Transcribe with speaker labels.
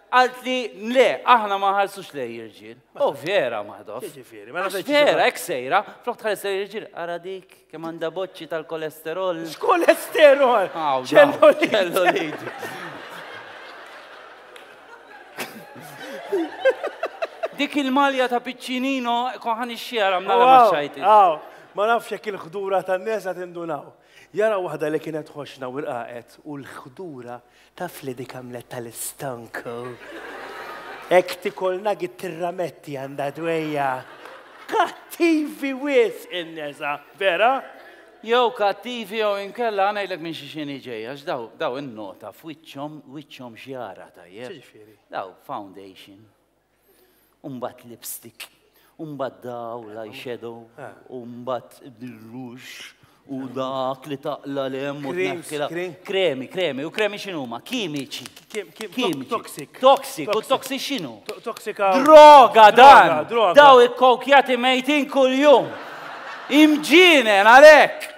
Speaker 1: Għalt li le, aħna ma ħarsux lej irġiel. Oh, vera maħdof.
Speaker 2: Ġifieri, mela
Speaker 1: Għax vera, hekk sejra, flok tħares lej irġiel, ara dik, kemm għandha boċċi tal-kolesterol.
Speaker 2: X'kolesterol?
Speaker 1: Aw, daw, ċellulite. Dik il-malja ta' Piccinino konħan ix-xjara mnara ma xajti.
Speaker 2: Aw, ma nafx jekk il-ħdura tan-nesa tindunaw. Jara waħda li kienet ħoxna u rqaqet u l-ħdura Taf li dik għamlet tal-istonku. Hekk tikol nugget tirrametti għandha dwejja. Kattivi wisq in-nesa, vera?
Speaker 1: Jew kattivi jew inkella ngħidlek minn xi xini ġej, għax daw daw innota f'wiċċhom wiċċhom x'jara tajjeb.
Speaker 2: X'jiġifieri?
Speaker 1: Daw foundation. U mbagħad lipstick, u mbagħad daw l-eyeshadow, u mbagħad ir-ruġ, u dak li taqla l-hemm u tneħħilha. Kremi, kremi, u kremi x'inhuma? Kimiċi.
Speaker 2: Kimiċi. Toxic.
Speaker 1: Toxic, u toxic x'inhu?
Speaker 2: Toxika.
Speaker 1: Droga dan! Daw ikkokjati mejtin kuljum. Imġienen għalhekk!